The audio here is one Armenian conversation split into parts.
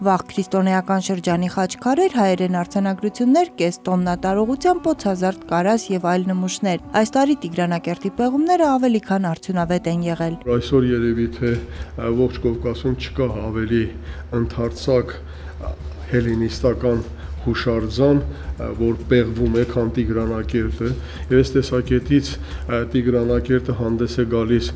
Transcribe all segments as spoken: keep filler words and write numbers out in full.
Վաղ քրիստոնեական շրջանի խաչքարեր, հայերեն արձանագրություններ, կես տոննա տարողությամբ օձազարդ կարաս եւ այլ նմուշներ։ Այս տարի Տիգրանակերտի պեղումները ավելի քան արդյունավետ են եղել։ Այսօր երևի թե ողջ Կովկասում չկա ավելի ընդարձակ հելինիստական հուշարձան, որ պեղվում է, քան Տիգրանակերտը, եւ այս տեսակետից Տիգրանակերտը հանդես է գալիս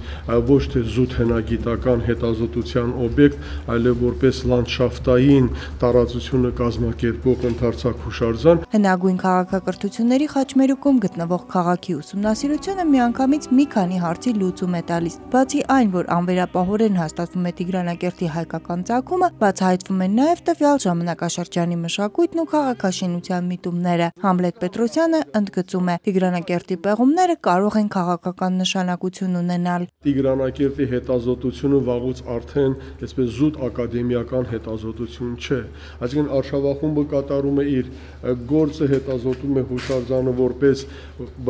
ոչ թե զուտ հնագիտական հետազոտության օբյեկտ, այլև որպես լանդշաֆտային տարածությունը կազմակերպող ընդարձակ հուշարձան։ Հնագույն քաղաքակրթությունների խաչմերուկում գտնվող քաղաքի ուսումնասիրությունը միանգամից մի քանի հարցի լուծում է տալիս։ Բացի այն, որ անվերապահորեն հաստատվում է Տիգրանակերտի հայկական ծագումը, բացահայտվում են նաև տվյալ ժամանակաշրջանի մշակույթն ու քաղաքաշինության միտումները։ Համլետ Պետրոսյանը ընդգծում է. Տիգրանակերտի պեղումները կարող են քաղաքական նշանակություն ունենալ։ Տիգրանակերտի հետազոտությունը վաղուց արդեն այսպես զուտ ակադեմիական հետազոտություն չէ։ Այսինքն արշավախումբը կատարում է իր գործը, հետազոտում է հուշարձանը որպես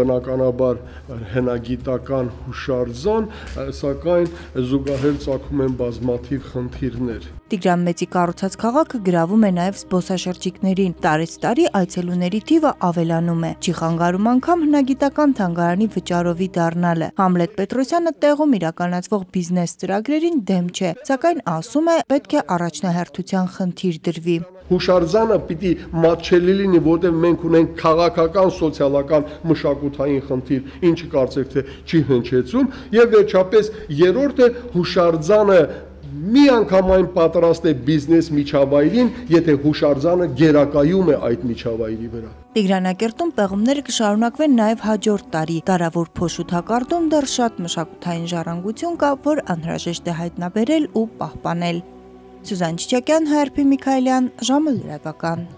բնականաբար հնագիտական հուշարձան, սակայն զուգահեռ ծագում են բազմաթիվ խնդիրներ։ Տիգրան Մեծի կառուցած քաղաքը գրավում է նաև զբոսաշրջիկներին։ Տարեց տարի այցելուների թիվը ավելանում է։ Չի խանգարում անգամ հնագիտական թանգարանի վճարովի դառնալը։ Համլետ Պետրոսյանը տեղում իրականացվող բիզնես ծրագրերին դեմ չէ, սակայն ասում է, պետք է առաջնահերթության խնդիր դրվի։ Հուշարձանը պիտի մատչելի լինի, որտեղ մենք ունենք քաղաքական, սոցիալական, մշակութային խնդիր, ինչը կարծեք թե չի հնչեցում, եւ վերջապես երրորդը հուշարձանը մի անգամ այն պատրաստ է բիզնես միջավայրին, եթե հուշարձանը գերակայում է այդ միջավայրի վրա։ Տիգրանակերտում պեղումները կշարունակվեն նաև հաջորդ տարի։ Դարավոր փոշութակարդում դեռ շատ մշակութային ժառանգություն կա, որ անհրաժեշտ է հայտնաբերել ու պահպանել։ Սյուզան Չիչակյան, Հայրփի Միքայելյան, ժամը լրատվական։